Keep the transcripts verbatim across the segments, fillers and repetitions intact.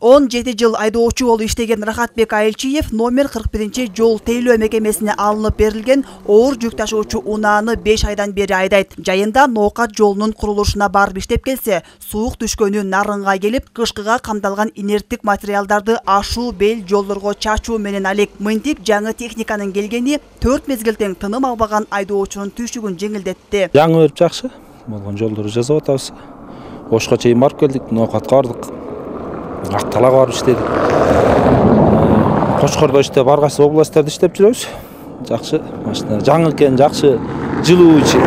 он жети жыл айдоочу болуп иштеген Рахатбек Айылчиев номер кырк биринчи жол тейлөө мекемесине алынып берилген оор жүк ташуучу унааны беш айдан бери айдайт. Жайында Ноокат жолунун курулушуна барып иштеп келсе, суук түшкөнү нарынга келип, кышкыга камдалган инерттик материалдарды ашуу бел жолдорго чачуу менен алек. Мынтип жаңы техниканын келгени төрт мезгил тең тыным албаган айдоочунун түйшүгүн жеңилдетти. Жаңы өтүп жакшы болгон жолдорду жасап атабыз. Ошко чейин барып келдик, Ноокатка бардык. Акталага барып иштедик. Кочкордо иштеп, ар кайсы областьтарда иштеп жүрөбүз. Жакшы машина, жаңы экен, жакшы, жылуу ичи.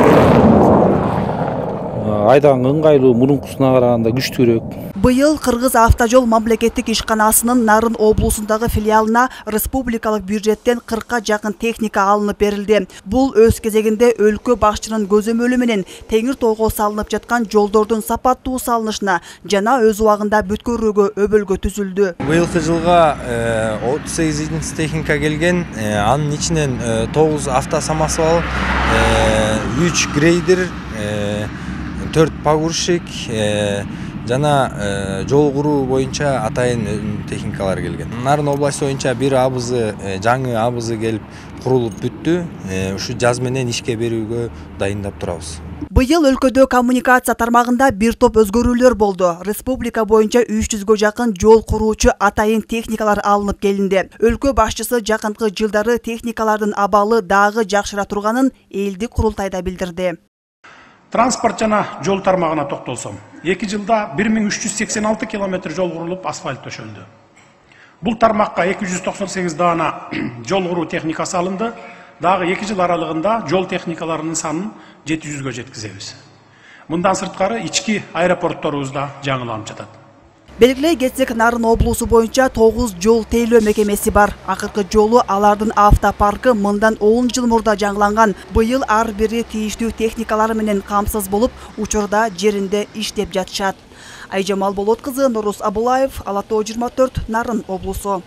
Айдаганга ыңгайлуу, мурункусуна караганда күчтүүрөөк. Быйыл Кыргыз автожол мамлекеттик ишканасынын Нарын облусундагы филиалына республикалык бюджеттен кыркка жакын техника алынып берилди. Бул өз кезегинде өлкө башчынын көзөмөлү менен Теңир тоого салынып жаткан жолдордун сапаттуу салынышына жана өз убагында бүткөрүүгө өбөлгө түзүлдү. Быйылкы жылга отуз сегиз техника келген, анын ичинен тогуз автосамосвал, үч грейдер, төрт погрузчик жана жол куруу боюнча атайын техникалар келген. Нарын областы боюнча бир абызы, жаңы абызы келип курулуп бүттү. Ушу жаз менен ишке берүүгө дайындап турабыз. Быйыл өлкөдө коммуникация тармагында бир топ өзгөрүүлөр болду. Республика боюнча үч жүзгө жакын жол куруучу атайын техникалар алынып келинди. Өлкө башчысы жакынкы жылдары техникалардын абалы дагы жакшыра турганын элдик курултайда билдирди. Транспорт жана жол тармагына токтолсом, эки жылда бир миң үч жүз сексен алты километр жол курулуп, асфальт төшөлдү. Бул тармакка эки жүз токсон сегиз даана жол куруу техникасы алынды. Дагы эки жыл аралыгында жол техникаларынын санын жети жүзгө жеткизебиз. Мындан сырткары ички аэропортторубуз да жаңыланып жатат. Белгилей кетсек, Нарын облусу боюнча тогуз жол тейлөө мекемеси бар. Акыркы жолу алардын автопаркы мындан он жыл мурда жаңыланган. Быйыл ар бири тийиштүү техникалары менен камсыз болуп, учурда жеринде иштеп жатышат. Айжамал Болот кызы, Нурус Абулаев, Ала тоо жыйырма төрт, Нарын облусу.